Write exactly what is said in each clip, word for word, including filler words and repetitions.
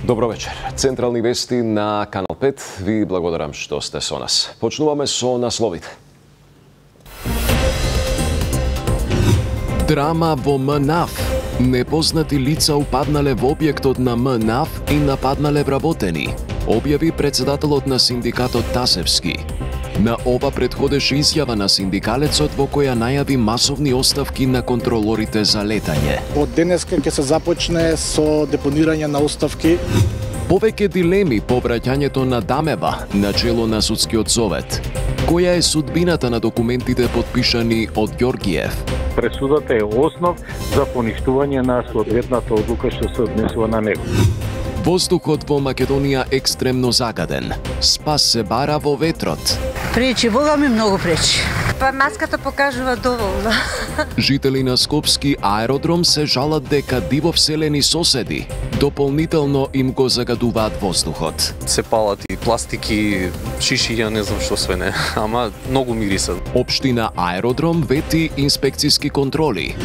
Добро вечер. Централни вести на Канал пет. Ви благодарам што сте со нас. Почнуваме со насловите. Драма во МНАФ. Непознати лица упаднале во објектот на МНАФ и нападнале вработени, објави председателот на синдикатот Тасевски. На ова предходеше изјава на синдикалецот во која најави масовни оставки на контролорите за летање. Од денеска ќе се започне со депонирање на оставки. Повеќе дилеми по враќањето на Дамева на чело на судскиот совет. Која е судбината на документите подпишани од Ѓоргиев? Пресудата е основ за поништување на соодветната одлука што се однесува на него. Воздухот во Македонија екстремно загаден. Спас се бара во ветрот. Пречи, Бога ми многу пречи. Па маската покажува доволно. Жители на Скопски аеродром се жалат дека диво вселени соседи дополнително им го загадуваат воздухот. Се палат и пластики, шишиња, не знам што све не, ама многу мирисат. Општина Аеродром вети инспекциски контроли.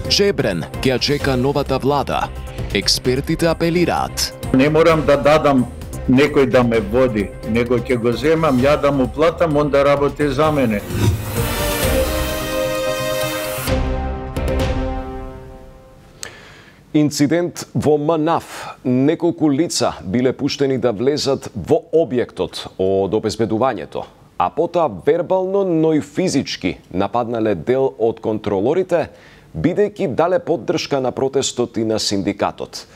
Чебрен ќе ја чека новата влада. Експертите апелираат. Не морам да дадам некој да ме води, него ќе го земам, ја да му платам, он да работи за мене. Инцидент во МНАФ. Неколку лица биле пуштени да влезат во објектот од обезбедувањето, а потоа вербално, но и физички нападнале дел од контролорите, бидејќи дале поддршка на протестот и на синдикатот.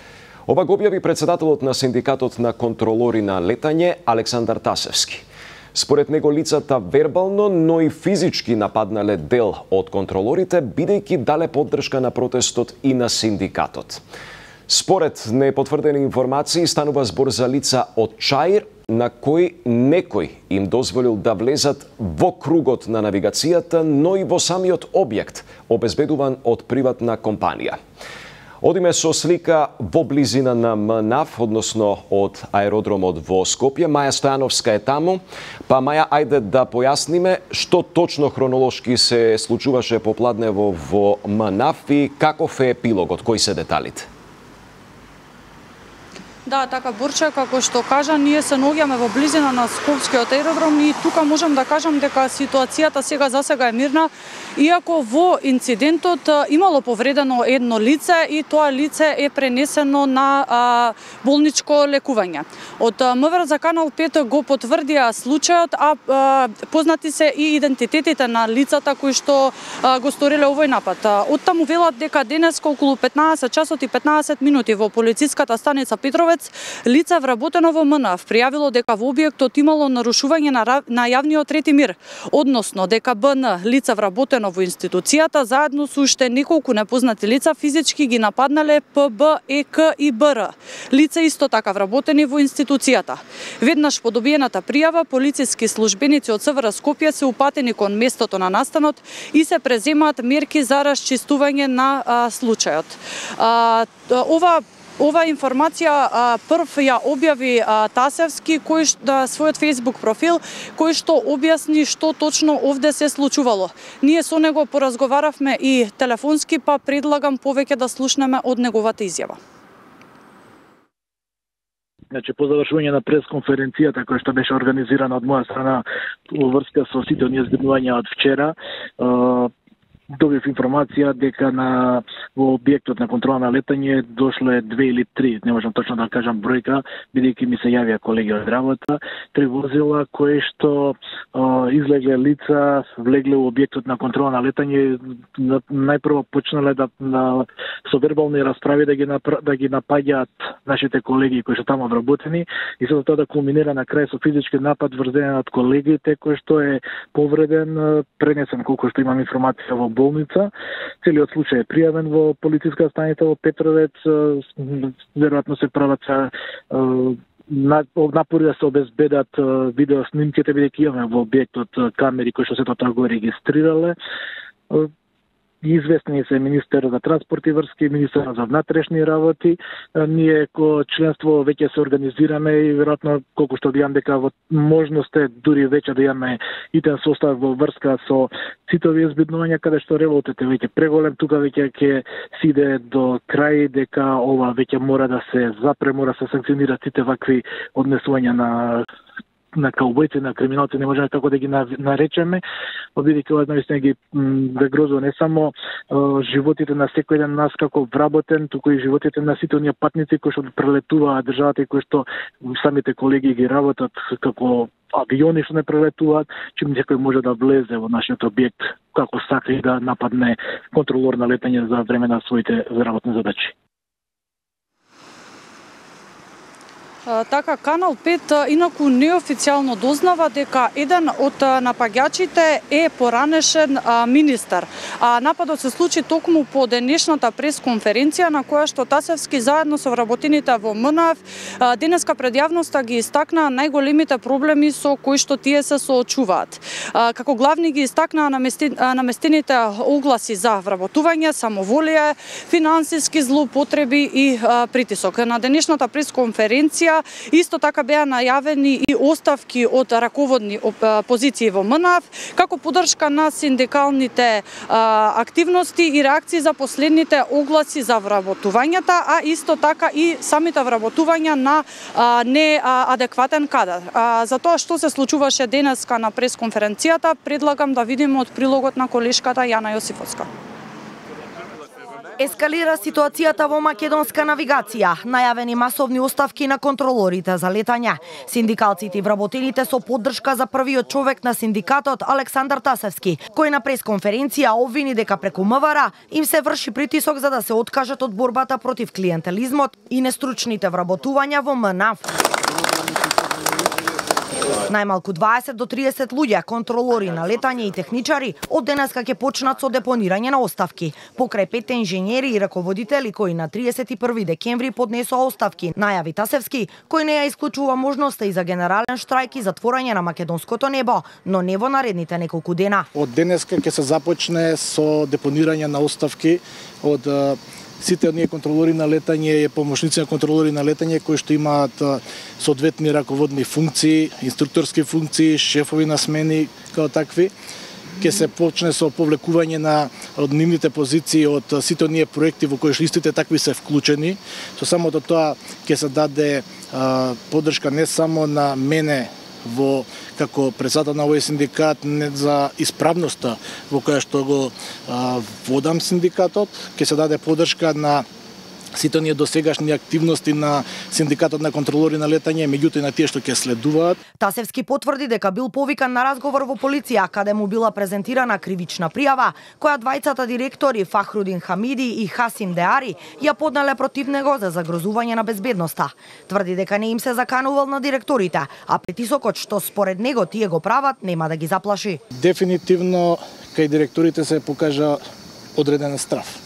Ова го објави председателот на синдикатот на контролори на летање Александар Тасевски. Според него лицата вербално, но и физички нападнале дел од контролорите, бидејќи дале поддршка на протестот и на синдикатот. Според непотврдени информации, станува збор за лица од Чаир, на кои некој им дозволил да влезат во кругот на навигацијата, но и во самиот објект, обезбедуван од приватна компанија. Одиме со слика во близина на МНАФ, односно од аеродромот во Скопје. Маја Стојановска е таму. Па Маја, ајде да појасниме што точно хронолошки се случуваше попладнево во МНАФ и каков е епилогот, кои се деталите? Да, така Борче, како што кажа, ние се наоѓаме во близина на Скопскиот аеродром и тука можам да кажам дека ситуацијата сега за сега е мирна, иако во инцидентот имало повредено едно лице и тоа лице е пренесено на а, болничко лекување. Од МВР за Канал пет го потврдија случајот, а, а познати се и идентитетите на лицата кои што а, го сториле овој напад. Оттаму велат дека денес околу петнаесет часот и петнаесет минути во полициската станица Петровец лице вработено во МНАФ пријавило дека во објектот имало нарушување на, на јавниот ред и мир, односно дека БН лице вработено во институцијата заедно со уште неколку непознати лица физички ги нападнале ПБ, ЕК и БР. Лица исто така вработени во институцијата. Веднаш по добиената пријава, полициски службеници од СВР Скопје се упатени кон местото на настанот и се преземаат мерки за расчистување на а, случајот. А, ова Ова информација а, прв ја објави а, Тасевски кој да, својот Facebook профил, кој што објасни што точно овде се случувало. Ние со него поразговаравме и телефонски, па предлагам повеќе да слушнеме од неговата изјава. Значи, по завршување на пресконференцијата која што беше организирана од моја страна во врска со сите оние зборувања од вчера, добив информација дека на во објектот на контрола на летање дошле две или три, не можам точно да кажам бројка, бидејќи ми се јавија колеги од работа, три возила кои што а, излегле лица, влегле во објектот на контрола на летање, најпрво почнале да на со вербални расправи да ги напра, да ги напаѓаат нашите колеги кои што таму вработени и со тоа да кулминира на крај со физички напад врз еден од колегите кој што е повреден, пренесен колку што имам информација во болница. Целиот случај е пријавен во полициска станица во Петровец. Веројатно се прават напори да се обезбедат видео снимките, бидејќи имаме во објектот камери кои што сето тоа го регистрирале. известни се министер за транспорт и врски, министер за внатрешни работи. Ние ко членство веќе се организираме и веројатно колку што видам дека во можност е дури веќе да имаме итен состав во врска со сите овие збеднувања каде што револтот е веќе преголем, тука веќе ќе си иде до крај, дека ова веќе мора да се запре, мора да се санкционираат сите вакви однесувања на на каубојци, на криминалци, не можеме како да ги наречеме, бидејќи ова наистина ги загрозува не само животите на секој ден нас како вработен, туку и животите на сите оние патници кои што прелетуваат државата и кои што самите колеги ги работат како авиони што не прелетуваат, чим некој може да влезе во нашиот објект како сака и да нападне контролор на летање за време на своите работни задачи. Така, Канал пет инаку неофицијално дознава дека еден од напаѓачите е поранешен министер. А нападот се случи токму по денешната пресконференција на која што Тасевски заедно со вработените во МНАФ денеска пред јавноста ги истакнаа најголемите проблеми со кои што тие се соочуваат. Како главни ги истакнаа наместените огласи за вработување, самоволие, финансиски злоупотреби и притисок. На денешната пресконференција исто така беа најавени и оставки од раководни позиции во МНАФ, како поддршка на синдикалните активности и реакции за последните огласи за вработувањата, а исто така и самите вработувања на неадекватен кадар. За тоа што се случуваше денеска на пресконференцијата, предлагам да видиме од прилогот на колешката Јана Јосифовска. Ескалира ситуацијата во македонска навигација. Најавени масовни оставки на контролорите за летање. Синдикалците и вработените со поддршка за првиот човек на синдикатот Александар Тасевски, кој на пресконференција обвини дека преку МВР им се врши притисок за да се откажат од борбата против клиентелизмот и нестручните вработувања во МНАФ. Најмалку дваесет до триесет луѓе, контролори на летање и техничари, од денеска ќе почнат со депонирање на оставки. Покрај петте инженери и раководители кои на триесет и први декември поднесоа оставки, најави Тасевски, кој не ја исклучува можноста и за генерален штрајк и затворање на македонското небо, но не во наредните неколку дена. Од денеска ќе се започне со депонирање на оставки од сите оние контролори на летање и помошници на контролори на летање кои што имаат соодветни раководни функции, инструкторски функции, шефови на смени како такви. Ќе се почне со повлекување на од нивните позиции од сите оние проекти во кои истите такви се вклучени. Со самото тоа ќе се даде а, поддршка не само на мене во како председател на овој синдикат не за исправноста во која што го а, водам синдикатот, ќе се даде поддршка на сите оние досегашни активности на синдикатот на контролори на летање, меѓутоа и на тие што ќе следуваат. Тасевски потврди дека бил повикан на разговор во полиција, каде му била презентирана кривична пријава, која двајцата директори Фахрудин Хамиди и Хасим Деари ја поднале против него за загрозување на безбедноста. Тврди дека не им се заканувал на директорите, а притисокот што според него тие го прават нема да ги заплаши. Дефинитивно кај директорите се покажа одреден страф.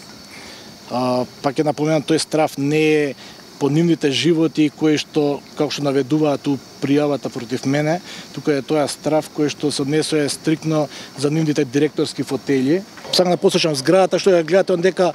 Uh, пак ќе напоменам, тој страф не е по нивните животи кои што, како што наведуваат у пријавата против мене, тука е тоа страф кој што се однесува стриктно за нивните директорски фотели. Сакам да послушам зградата што ја гледате дека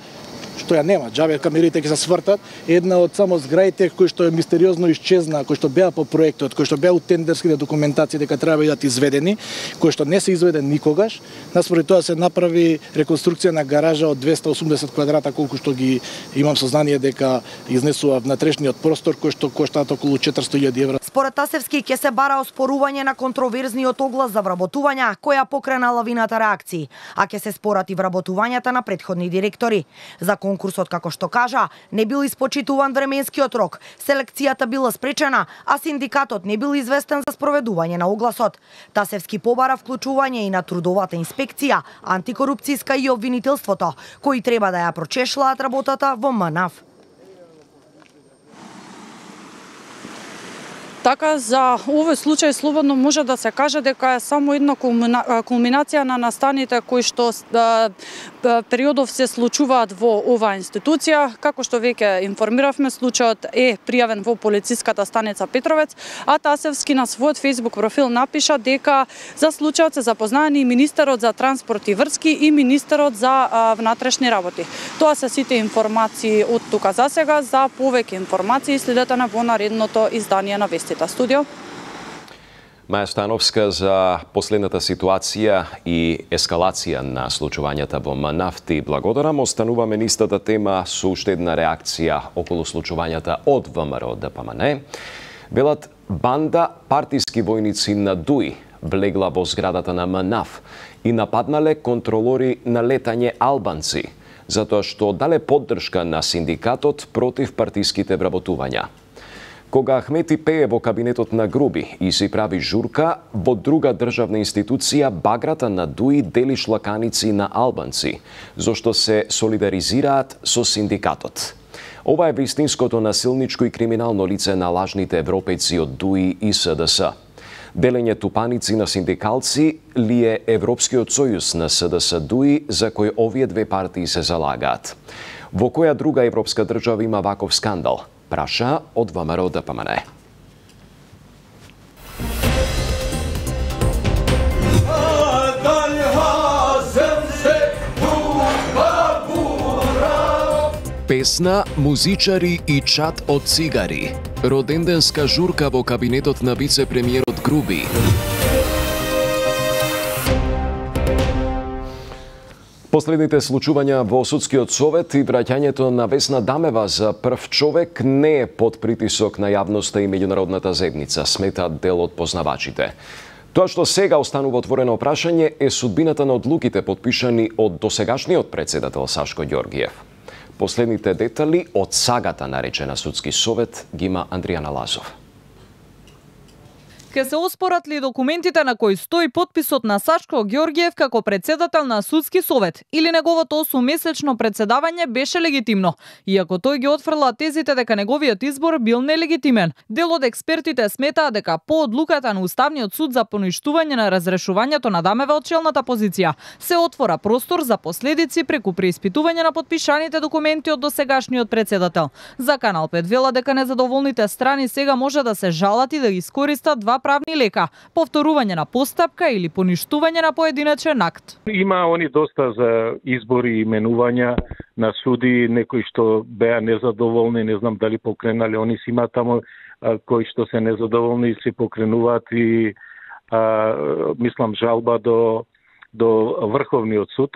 што ја нема, џабе камерите ќе се свртат, една од само зградите кои што е мистериозно исчезна, кои што беа по проектот, кои што беа у тендерските документации дека треба да бидат изведени, кои што не се изведен никогаш. Наспоред тоа се направи реконструкција на гаража од двесте и осумдесет квадрата, колку што ги имам сознание дека изнесува внатрешниот простор, кој што коштаат околу четиристотини илјади евра. Според Тасевски ќе се бара оспорување на контроверзниот оглас за вработувања, која покрена лавината реакции, а ќе се спорат и вработувањата на претходни директори. За конкурсот, како што кажа, не бил испочитуван временскиот рок, селекцијата била спречена, а синдикатот не бил известен за спроведување на огласот. Тасевски побара вклучување и на трудовата инспекција, антикорупцијска и обвинителството, кои треба да ја прочешлаат работата во МНАФ. Така, за овој случај слободно може да се каже дека е само една кулминација на настаните кои што да, периодов се случуваат во оваа институција. Како што веќе информиравме, случајот е пријавен во полициската станица Петровец, а Тасевски на својот Facebook профил напиша дека за случајот се запознаени и министерот за транспорт и врски и министерот за а, внатрешни работи. Тоа се сите информации од тука за сега. За повеќе информации следете на во наредното издание на Вестите. Студио. Маја Становска за последната ситуација и ескалација на случувањата во МНАФ ти благодарам. Остануваме нистата тема со уште една реакција околу случувањата од ВМРО ДПМН. Велат банда партиски војници на ДУИ влегла во зградата на МНАФ и нападнале контролори на летање албанци, затоа што дале поддршка на синдикатот против партиските вработувања. Кога Ахмети пее во кабинетот на Груби и си прави журка, во друга државна институција баграта на ДУИ дели шлаканици на албанци, зашто се солидаризираат со синдикатот. Ова е вистинското насилничко и криминално лице на лажните европејци од ДУИ и СДС. Делење тупаници на синдикалци ли е Европскиот сојуз на СДС ДУИ за кој овие две партии се залагаат? Во која друга европска држава има ваков скандал? Праша од ВМРО ДПМН. Песна, музичари и чат од цигари. Роденденска журка во кабинетот на вице-премиерот Груби. Последните случувања во Судскиот совет и враќањето на Весна Дамева за прв човек не е под притисок на јавноста и меѓународната заедница, сметаат дел од познавачите. Тоа што сега останува отворено прашање е судбината на одлуките подпишани од досегашниот председател Сашко Ѓоргиев. Последните детали од сагата наречена Судски совет ги има Андријана Лазов. Ке се оспорат ли документите на кои стои потписот на Сашко Ѓоргиев како председател на Судски совет или неговото осуммесечно председавање беше легитимно, иако тој ги отфрла тезите дека неговиот избор бил нелегитимен. Дел од експертите сметаат дека по одлуката на Уставниот суд за поништување на разрешувањето на Дамева од челната позиција се отвора простор за последици преку преиспитување на подпишаните документи од досегашниот председател. За Канал пет вела дека незадоволните страни сега може да се жалат и да ги искористат два правни лека: повторување на постапка или поништување на поединечен акт. Има они доста за избори и именувања на суди, некои што беа незадоволни, не знам дали покренале, они си има таму а, кои што се незадоволни се покренуваат и а, мислам жалба до до Врховниот суд,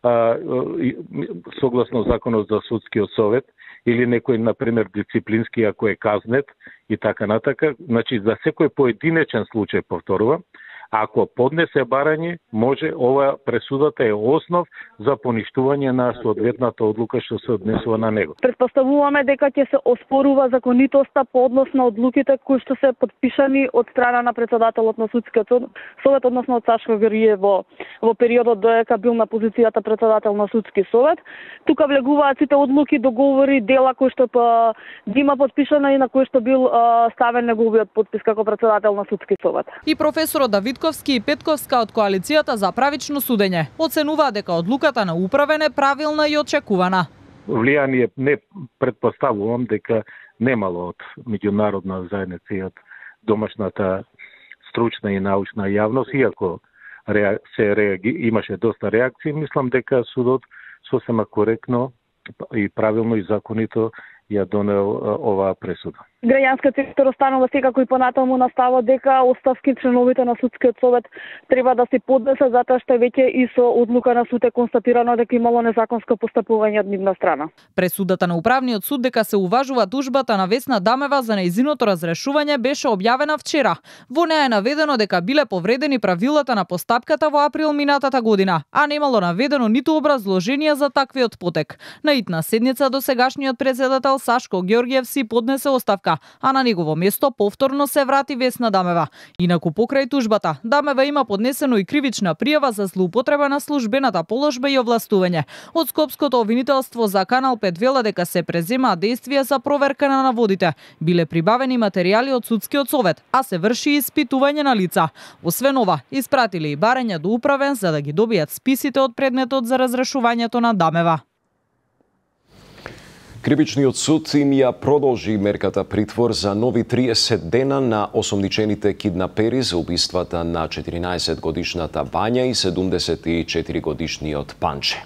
а, и, согласно законот за Судскиот совет, или некој, например, дисциплински ако е казнет и така натака. Значи, за секој поединечен случај, повторувам, ако поднесе барање, може ова пресудата е основ за поништување на соодветната одлука што се однесува на него. Претпоставуваме дека ќе се оспорува законитоста по однос на одлуките кои што се подпишани од страна на председателот на Судскиот совет, односно од Сашко Ѓоргиев во, во периодот додека бил на позицијата председател на Судски совет. Тука влегуваат сите одлуки, договори, дела кои што па има подпишана и на кои што бил а, ставен неговиот подпис како председател на Судски совет. И професорот Давид Ковски и Петковска од коалицијата за правично судење оценуваат дека одлуката на управен е правилна и очекувана. Влијание не предпоставувам дека немало од меѓународна заедница и од домашната стручна и научна јавност, иако се реаги, имаше доста реакции, мислам дека судот сосема коректно и правилно и законито ја донел оваа пресуда. Граѓанскиот сектор останува секако и понатаму на ставот дека оставки членовите на Судскиот совет треба да се поднесат, затоа што веќе и со одлука на суд е констатирано дека имало незаконско постапување од нивна страна. Пресудата на управниот суд дека се уважува тужбата на Весна Дамева за нејзиното разрешување беше објавена вчера. Во неа е наведено дека биле повредени правилата на постапката во април минатата година, а немало наведено ниту образложение за таквиот потек. На итна седница досегашниот председател генерал Сашко Ѓорѓиев си поднесе оставка, а на негово место повторно се врати Весна Дамева. Инаку покрај тужбата, Дамева има поднесено и кривична пријава за злоупотреба на службената положба и овластување. Од Скопското обвинителство за Канал пет вела дека се преземаат действија за проверка на наводите. Биле прибавени материјали од судскиот совет, а се врши испитување на лица. Освен ова, испратиле и барања до управен за да ги добијат списите од предметот за разрешувањето на Дамева. Кривичниот суд им ја продолжи мерката притвор за нови триесет дена на осомничените киднапери за убиствата на четиринаесет годишната Вања и седумдесет и четири годишниот Панче.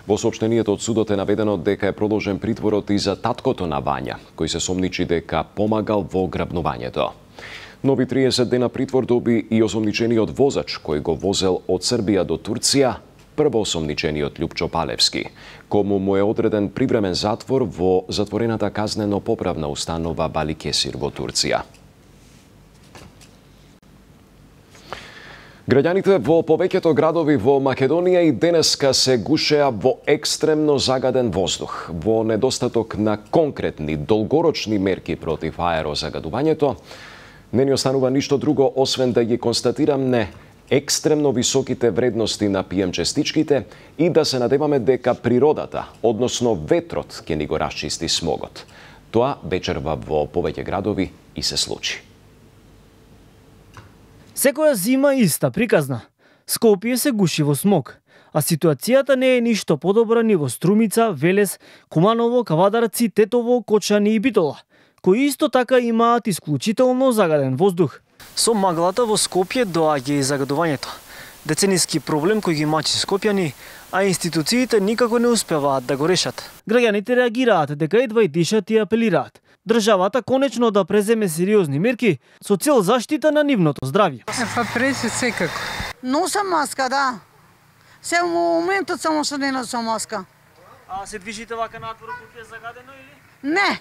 Во соопштението од судот е наведено дека е продолжен притворот и за таткото на Вања, кој се сомничи дека помагал во грабнувањето. Нови триесет дена притвор доби и осомничениот возач кој го возел од Србија до Турција, прво осомничениот Љупчо Палевски, кому му е одреден привремен затвор во затворената казнено-поправна установа Баликесир во Турција. Граѓаните во повеќето градови во Македонија и денеска се гушеа во екстремно загаден воздух. Во недостаток на конкретни, долгорочни мерки против аерозагадувањето, не ни останува ништо друго освен да ги констатираме екстремно високите вредности на пи ем честичките и да се надеваме дека природата, односно ветрот, ќе ни го расчисти смогот. Тоа вечерва во повеќе градови и се случи. Секоја зима иста приказна. Скопје се гуши во смог, а ситуацијата не е ништо подобра ни во Струмица, Велес, Куманово, Кавадарци, Тетово, Кочани и Битола, кои исто така имаат исклучително загаден воздух. Со маглата во Скопје доаѓа и загадувањето. Децениски проблем кој ги мачи скопјани, а институциите никако не успеваат да го решат. Граѓаните реагираат дека едва и дишат и апелираат државата конечно да преземе сериозни мерки со цел заштита на нивното здравје. Па преси секако. Носам маска, да. Се во моментот само што не носам маска. А се движите вака надвор кога е загадено или? Не.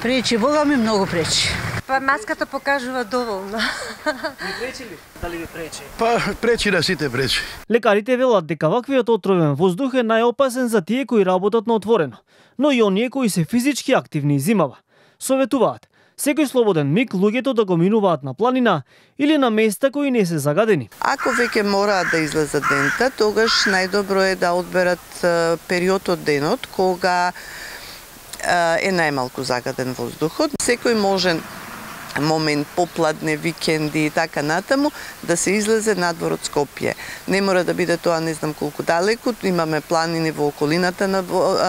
Пречи, Бога ми многу пречи. Па маската покажува доволно. Ви пречи ли? Дали ви пречи? Па пречи на сите пречи. Лекарите велат дека ваквиот отровен воздух е најопасен за тие кои работат на отворено, но и оние кои се физички активни зимава. Советуваат секој слободен миг луѓето да го минуваат на планина или на места кои не се загадени. Ако веќе мораат да излезат дента, тогаш најдобро е да одберат период од денот кога е најмалку загаден воздухот. Секој можен момент, попладне, викенди и така натаму, да се излезе надвор од Скопје. Не мора да биде тоа не знам колку далеку, имаме планини во околината на,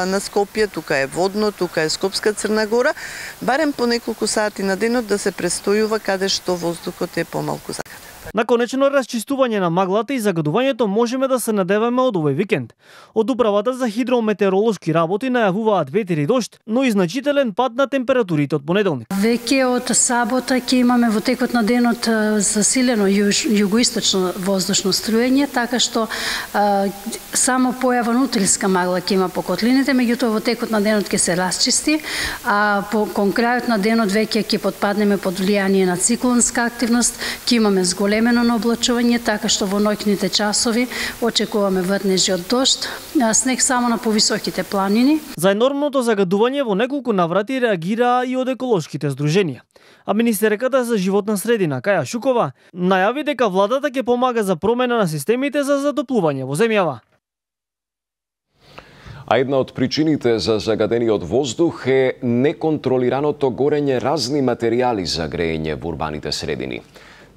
на Скопје, тука е водно, тука е Скопска Црна Гора, барем по неколку сати на денот да се престојува каде што воздухот е помалку загаден. На конечно расчистување на маглата и загадувањето можеме да се надеваме од овој викенд. Од Управата за хидрометеоролошки работи најавуваат ветер и дожд, но и значителен пад на температурите од понеделник. Веќе од сабота ќе имаме во текот на денот засилено јуж, југоисточно воздушно струење, така што а, само појава нутрилска магла ќе има по котлините, меѓутоа во текот на денот ќе се расчисти, а по кон крајот на денот веќе ќе потпаднеме под влијание на циклонска активност, ќе имаме зголемено на облачување, така што во ноќните часови очекуваме врнежи од дожд, снег само на повисоките планини. За енормното загадување во неколку наврати реагираа и од еколошките здруженија. А министерката за животна средина Каја Шукова најави дека владата ќе помага за промена на системите за затоплување во земјава. А една од причините за загадениот воздух е неконтролираното горење разни материјали за грејење во урбаните средини.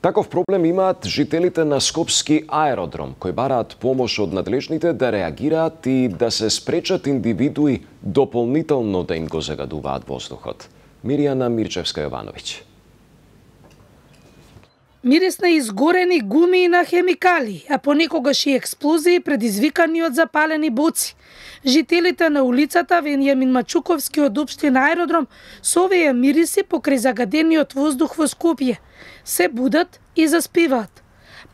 Таков проблем имаат жителите на Скопски аеродром, кои бараат помош од надлежните да реагираат и да се спречат индивидуи дополнително да им го загадуваат воздухот. Миријана Мирчевска-Јовановиќ. Мирис на изгорени гуми и на хемикали, а понекогаш и експлозии предизвикани од запалени боци. Жителите на улицата Венијамин Мачуковски од општина Аеродром со овие мириси покрај загадениот воздух во Скопје се будат и заспиваат.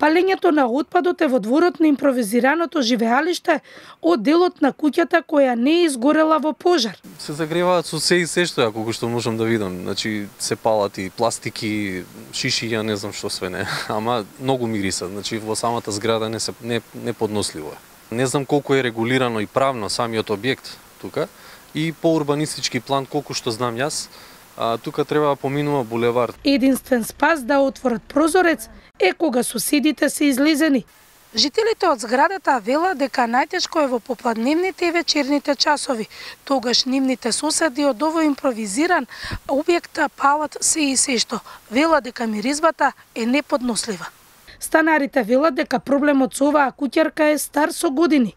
Палењето на отпадот е во дворот на импровизираното живеалиште од делот на куќата која не е изгорела во пожар. Се загреваат со се и се што ја колку што можам да видам. Значи се палат и пластики, шишиња, не знам што све не. Ама многу мириса, значи во самата зграда не се не, не подносливо е. Не знам колку е регулирано и правно самиот објект. тука и по урбанистички план, колку што знам јас, а, тука треба да поминува булевар. Единствен спас да отворат прозорец е кога соседите се излезени. Жителите од зградата велат дека најтешко е во попладневните и вечерните часови. Тогаш нивните соседи од овој импровизиран објект палат се и се што. Велат дека миризбата е неподнослива. Станарите велат дека проблемот со оваа куќарка е стар со години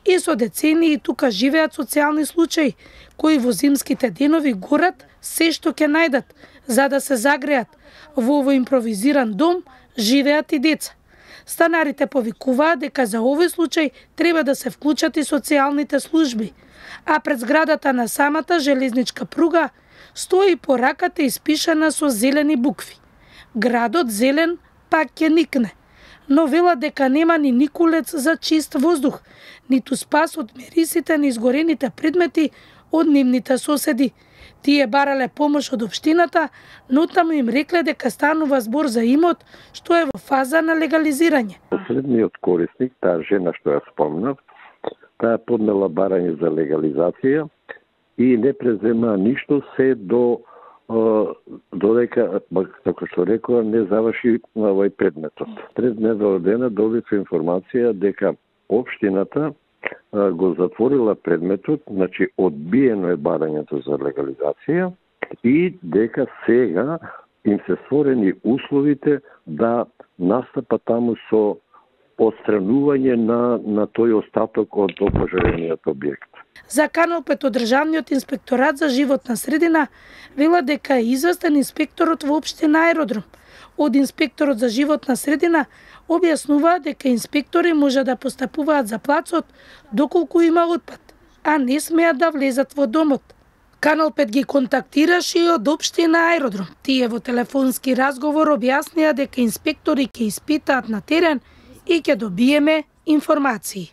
и со децении тука живеат социјални случаи кои во зимските денови горат се што ќе најдат за да се загреат. Во овој импровизиран дом живеат и деца. Станарите повикуваат дека за овој случај треба да се вклучат и социјалните служби, а пред зградата на самата железничка пруга стои пораката испишана со зелени букви. Градот зелен пак ќе никне, но велат дека нема ни никулец за чист воздух, ниту спас од мирисите на изгорените предмети од нивните соседи. Тие барале помош од општината, но таму им рекле дека станува збор за имот што е во фаза на легализирање. Последниот корисник, таа жена што ја спомнав, таа поднела барање за легализација и не презема ништо се до додека, како што рекоа, не заврши овој предметот. Пред недела дена добив информација дека општината го затворила предметот, значи одбиено е барањето за легализација и дека сега им се створени условите да настапа таму со отстранување на, на тој остаток од опожарениот објект. За Канал пет од Државниот инспекторат за животна средина вела дека е известен инспекторот во општина Аеродром. Од инспекторот за животна средина објаснуваат дека инспектори може да постапуваат за плацот доколку има отпад, а не смеат да влезат во домот. Канал пет ги контактираше и од општина Аеродром. Тие во телефонски разговор објаснија дека инспектори ќе испитаат на терен и ќе добиеме информации.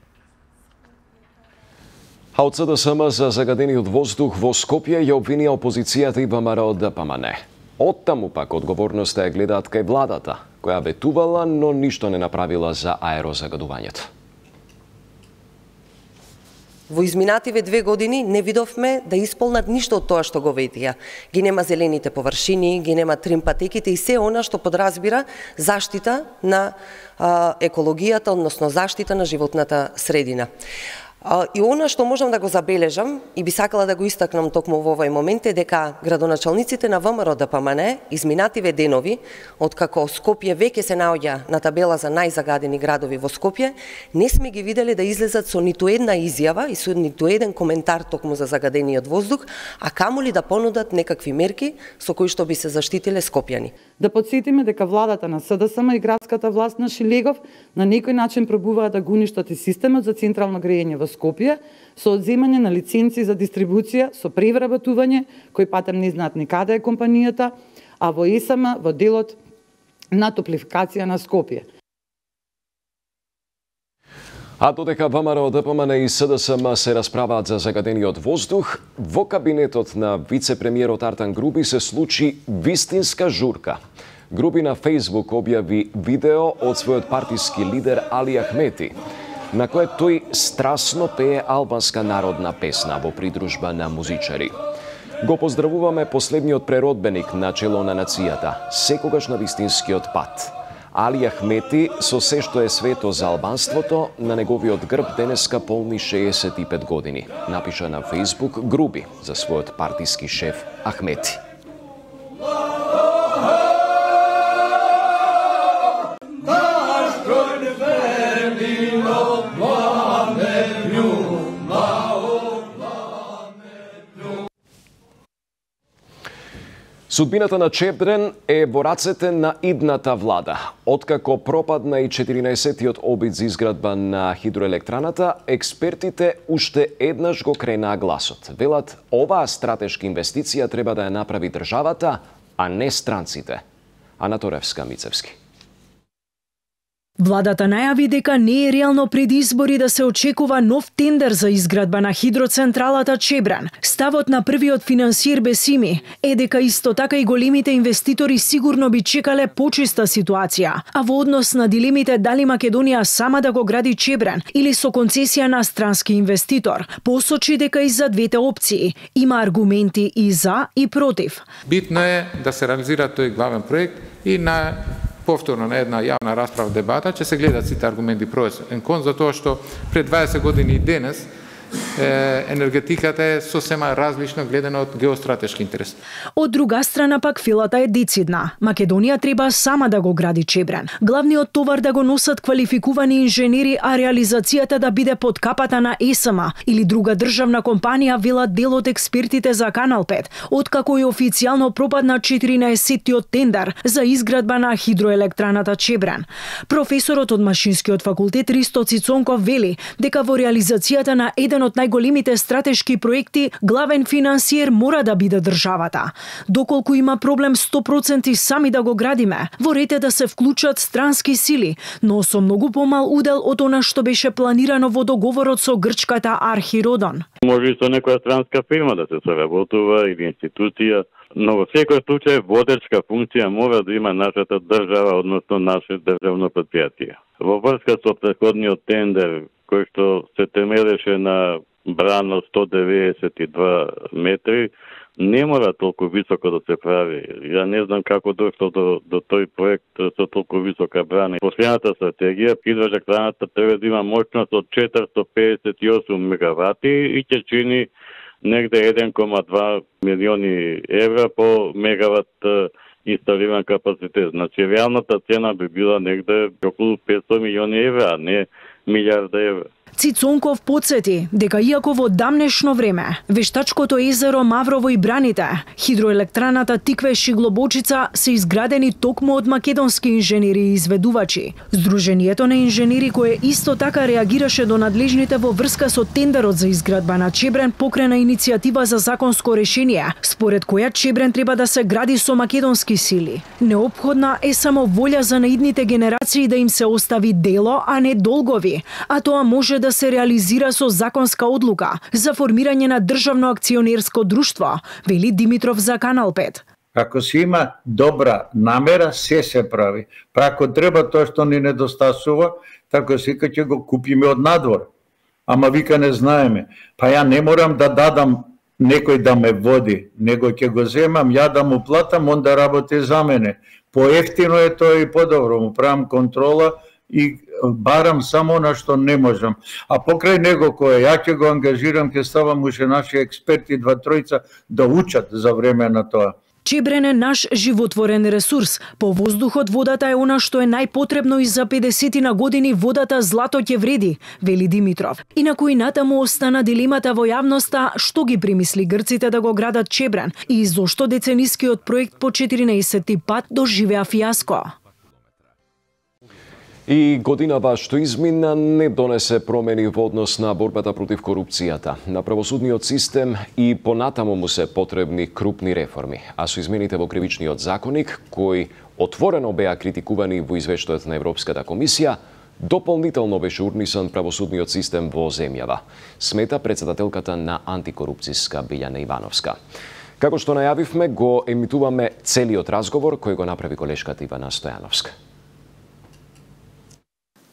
А од СДСМ за загадениот воздух во Скопје ја обвинија опозицијата и ВМРО ДПМН. Оттаму пак одговорноста ја гледаат кај владата, која ветувала, но ништо не направила за аерозагадувањето. Во изминативе две години не видовме да исполнат ништо од тоа што го ветија. Ги нема зелените површини, ги нема трим патеките и се она што подразбира заштита на а, екологијата, односно заштита на животната средина. И она што можам да го забележам и би сакала да го истакнам токму во овој момент е дека градоначалниците на ВМРО ДПМН изминативе денови, откако Скопје веќе се наоѓа на табела за најзагадени градови во Скопје, не сме ги видели да излезат со ниту една изјава и со ниту еден коментар токму за загадениот воздух, а камоли да понудат некакви мерки со кои што би се заштитиле скопјани. Да подсетиме дека владата на СДСМ и градската власт на Шилегов на некој начин пробуваат да го уништат и системот за централно грејење во Скопје со одземање на лиценци за дистрибуција, со превработување, кои патем не знаат ни каде е компанијата, а во ЕСМ во делот на топлификација на Скопје. А додека ВМРО ДПМН и СДСМ се расправаат за загадениот воздух, во кабинетот на вице-премиерот Артан Груби се случи вистинска журка. Груби на Фејсбук објави видео од својот партиски лидер Али Ахмети, на кое тој страстно пее албанска народна песна во придружба на музичари. Го поздравуваме последниот преродбеник на чело на нацијата, секогаш на вистинскиот пат. Али Ахмети, со се што е свето за албанството, на неговиот грб денеска полни шеесет и пет години. Напиша на Фејсбук Груби за својот партиски шеф Ахмети. Судбината на Чепдрен е во рацете на идната влада. Откако пропадна и четиринаесеттиот обид за изградба на хидроелектраната, експертите уште еднаш го кренаа гласот. Велат, оваа стратешка инвестиција треба да ја направи државата, а не странците. Ана Торевска, Мицевски. Владата најави дека не е реално пред избори да се очекува нов тендер за изградба на хидроцентралата Чебран. Ставот на првиот финансиер Бесими е дека исто така и големите инвеститори сигурно би чекале почиста ситуација, а во однос на дилемите дали Македонија сама да го гради Чебран или со концесија на странски инвеститор, посочи дека и за двете опции има аргументи и за и против. Битно е да се реализира тој главен проект и на повторно на една јавна расправа дебата ќе се гледат сите аргументи про и кон, затоа што пред дваесет години и денес е, енергетиката е сосема различно гледана од геостратешки интерес. Од друга страна пак филата е децидна. Македонија треба сама да го гради Чебран. Главниот товар да го носат квалификувани инженери, а реализацијата да биде под капата на Е С М или друга државна компанија, велат дел од експертите за Канал пет, откако и официјално пропадна четиринаесеттиот тендер за изградба на хидроелектраната Чебран. Професорот од Машинскиот факултет Ристо Цицонков вели дека во реализацијата на еден од најголемите стратешки проекти, главен финансиер мора да биде државата. Доколку има проблем сто проценти сами да го градиме, во ред е да се вклучат странски сили, но со многу помал удел од она што беше планирано во договорот со грчката Архиродон. Може и со некоја странска фирма да се соработува или институција, но во секој случај водечка функција мора да има нашата држава, односно наше државно предпријатие. Во врска со претходниот тендер, кој што се темелеше на брана сто деветдесет и два метри, не мора толку високо да се прави. Ја не знам како дошло до, до тој проект со толку висока брана. Последната стратегија, хидроелектраната треба да има моќност од четиристо педесет и осум мегавати и ќе чини негде еден кома два милиони евра по мегават инсталиран капацитет. Значи, реалната цена би била негде околу петстотини милиони евра, а не милиарда евра. Цицонков подсети дека иако во дамнешно време вештачкото езеро Маврово и Браните, хидроелектраната Тикве Шиглобочица се изградени токму од македонски инженери и изведувачи. Сдруженијето на инженери кое исто така реагираше до надлежните во врска со тендерот за изградба на Чебрен покрена иницијатива за законско решение, според која Чебрен треба да се гради со македонски сили. Неопходна е само волја за наидните генерации да им се остави дело, а не долгови, а тоа може да се реализира со законска одлука за формирање на државно акционерско друштво, вели Димитров за Канал пет. Ако се има добра намера, се се прави. Па ако треба тоа што ни недостасува, така сека ќе го купиме од надвор. Ама вика не знаеме. Па ја не морам да дадам некој да ме води, него ќе го земам, ја да му платам, он да работи за мене. Поевтино е тоа и подобро, му правам контрола и барам само на што не можам. А покрај него кој ја ќе го ангажирам, ќе ставам уште наши експерти, два тројца, да учат за време на тоа. Чебрен е наш животворен ресурс. По воздухот водата е она што е најпотребно и за педесетина години водата злато ќе вреди, вели Димитров. Инаку и натаму остана дилемата во јавноста што ги примисли грците да го градат Чебрен и зошто деценискиот проект по четиринаесетти пат доживеа фијаско. И годинава што измина не донесе промени во однос на борбата против корупцијата, на правосудниот систем и понатаму му се потребни крупни реформи. А со измените во кривичниот законник, кои отворено беа критикувани во извештајот на Европската комисија, дополнително беше урнисан правосудниот систем во земјава, смета председателката на антикорупцијска Билјана Ивановска. Како што најавивме, го емитуваме целиот разговор кој го направи колешката Ивана Стојановска.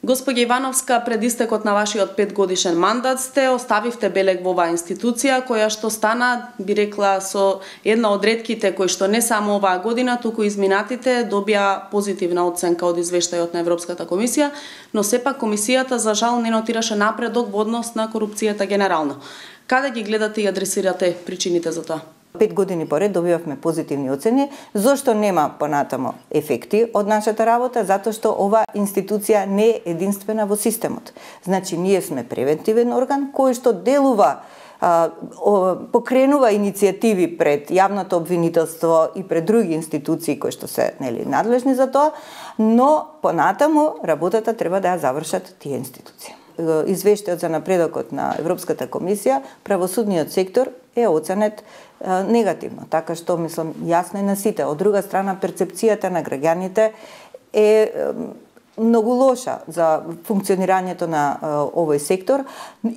Господја Ивановска, пред истекот на вашиот петгодишен мандат сте оставивте белег во оваа институција, која што стана, би рекла, со една од ретките кои што не само оваа година, туку изминатите добија позитивна оценка од извештајот на Европската комисија, но сепак комисијата за жал не нотираше напредок во однос на корупцијата генерално. Каде ги гледате и адресирате причините за тоа? Пет години поред добивавме позитивни оцени. Зошто нема понатамо ефекти од нашата работа? Затоа што ова институција не е единствена во системот. Значи, ние сме превентивен орган кој што делува, а, о, покренува иницијативи пред јавното обвинителство и пред други институции кои што се нели надлежни за тоа, но понатамо работата треба да ја завршат тие институции. Извештајот за напредокот на Европската комисија, правосудниот сектор е оценет е, негативно, така што мислам јасно е на сите. Од друга страна, перцепцијата на граѓаните е, е многу лоша за функционирањето на овој сектор.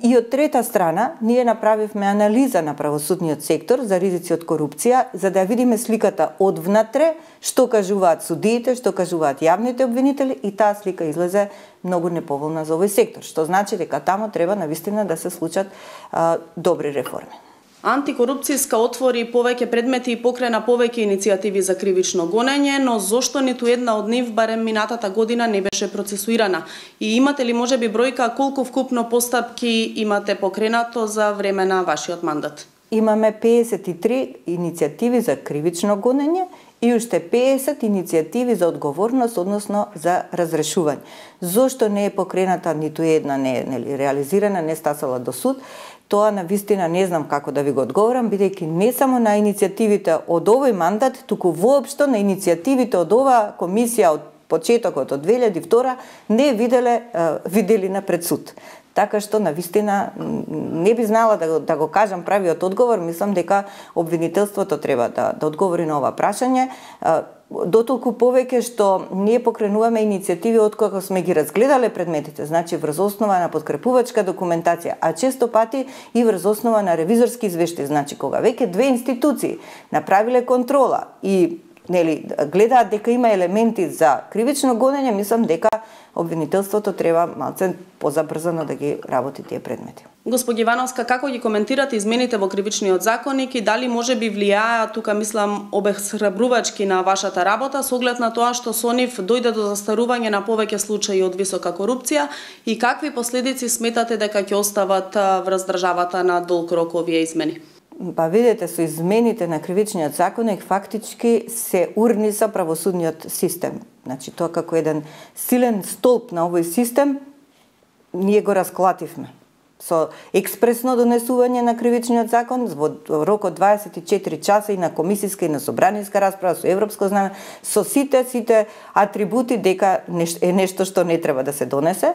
И од трета страна, ние направивме анализа на правосудниот сектор за ризици од корупција, за да видиме сликата од внатре, што кажуваат судиите, што кажуваат јавните обвинители, и таа слика излезе многу неповолна за овој сектор, што значи дека таму треба навистина да се случат а, добри реформи. Антикорупцијска отвори повеќе предмети и покрена повеќе иницијативи за кривично гонење, но зошто ниту една од нив барем минатата година не беше процесуирана? И имате ли можеби бројка колку вкупно постапки имате покренато за време на вашиот мандат? Имаме пеесет и три иницијативи за кривично гонење и уште пеесет иницијативи за одговорност, односно за разрешување. Зошто не е покрената ниту една, не е нели, реализирана, не стасала до суд? Тоа навистина не знам како да ви го одговорам, бидејќи не само на иницијативите од овој мандат, туку воопшто на иницијативите од оваа комисија од почетокот од две илјади и втора не виделе виделина пред суд. Така што навистина не би знала да, да го кажам правиот одговор. Мислам дека обвинителството треба да, да одговори на ова прашање. Дотолку повеќе што ние покренуваме иницијативи од кога сме ги разгледале предметите, значи врз основа на подкрепувачка документација, а често пати и врз основа на ревизорски извештаи, значи кога веќе две институции направиле контрола и нели гледаат дека има елементи за кривично гонење, мислам дека обвинителството треба малце позабрзано да ги работи тие предмети. Госпоѓа Ивановска, како ги коментирате измените во кривичниот законник и дали може би влијаат, тука мислам, обесхрабрувачки на вашата работа со оглед на тоа што со нив дојде до застарување на повеќе случаи од висока корупција и какви последици сметате дека ќе остават врз државата на долг рок овие измени? Па видете, со измените на кривичниот законник фактички се урниса правосудниот систем. Значи тоа како еден силен столб на овој систем ние го расклативме. Со експресно донесување на кривичниот закон во рок од дваесет и четири часа и на комисиска и на собраниска расправа со европско знаме, со сите сите атрибути дека е нешто што не треба да се донесе,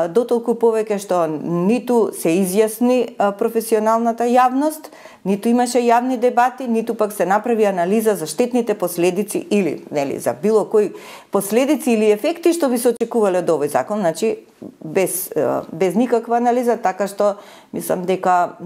дотолку повеќе што ниту се изјасни професионалната јавност, ниту имаше јавни дебати, ниту пак се направи анализа за штетните последици или нели за било кои последици или ефекти што би се очекувале од овој закон, значи без без никаква анализа, така што мислам дека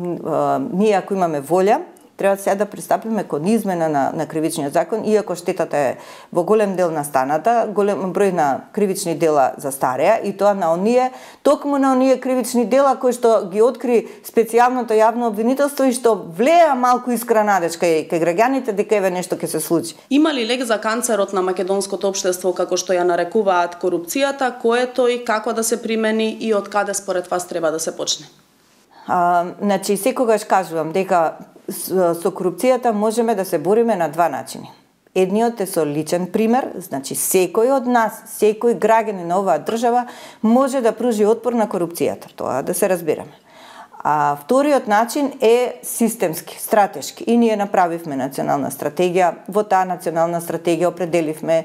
ние ако имаме волја треба сега да пристапиме кон измена на, на кривичниот закон, иако штетата е во голем дел настаната, голем број на кривични дела застареа и тоа на оние, токму на оние кривични дела кои што ги откри специјалното јавно обвинителство и што влеа малку искра надежка и кај граѓаните дека еве нешто ќе се случи. Има ли лек за канцерот на македонското општество како што ја нарекуваат корупцијата, кој е тој, како да се примени и од каде според вас треба да се почне? А, значи секогаш кажувам дека со корупцијата можеме да се бориме на два начини. Едниот е со личен пример, значи секој од нас, секој граѓанин на оваа држава може да пружи отпор на корупцијата, тоа да се разбираме. А вториот начин е системски, стратешки. И ние направивме национална стратегија, во таа национална стратегија определивме е,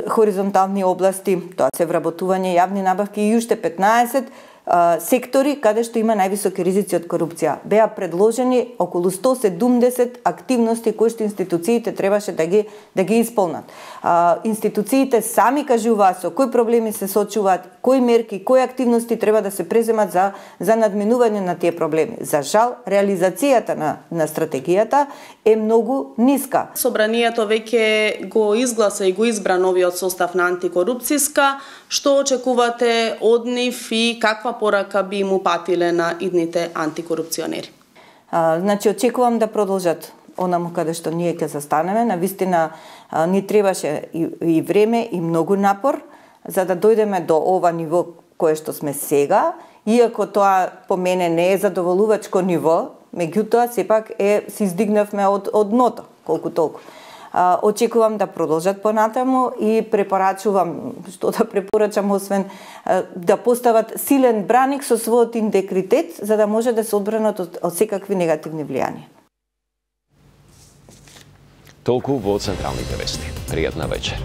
хоризонтални области, тоа се вработување јавни набавки и уште петнаесет сектори каде што има највисоки ризици од корупција. Беа предложени околу сто седумдесет активности кои што институциите требаше да ги да ги исполнат. А, институциите сами кажуваат со кои проблеми се соочуваат, кои мерки, кои активности треба да се преземат за за надминување на тие проблеми. За жал, реализацијата на на стратегијата е многу ниска. Собранието веќе го изгласа и го избра новиот состав на антикорупцијска. Што очекувате од нив и каква порака би му патиле на идните антикорупционери? А, значи, очекувам да продолжат онаму каде што ние ќе застанеме. Навистина ни требаше и, и време и многу напор за да дојдеме до ова ниво кое што сме сега, иако тоа по мене не е задоволувачко ниво, меѓутоа сепак е се издигнавме од од дното, колку толку. А, очекувам да продолжат понатаму и препорачувам, што да препорачам освен а, да постават силен браник со својот интегритет за да може да се одбранат од, од секакви негативни влијанија. Толку во централните вести. Пријатна вечер.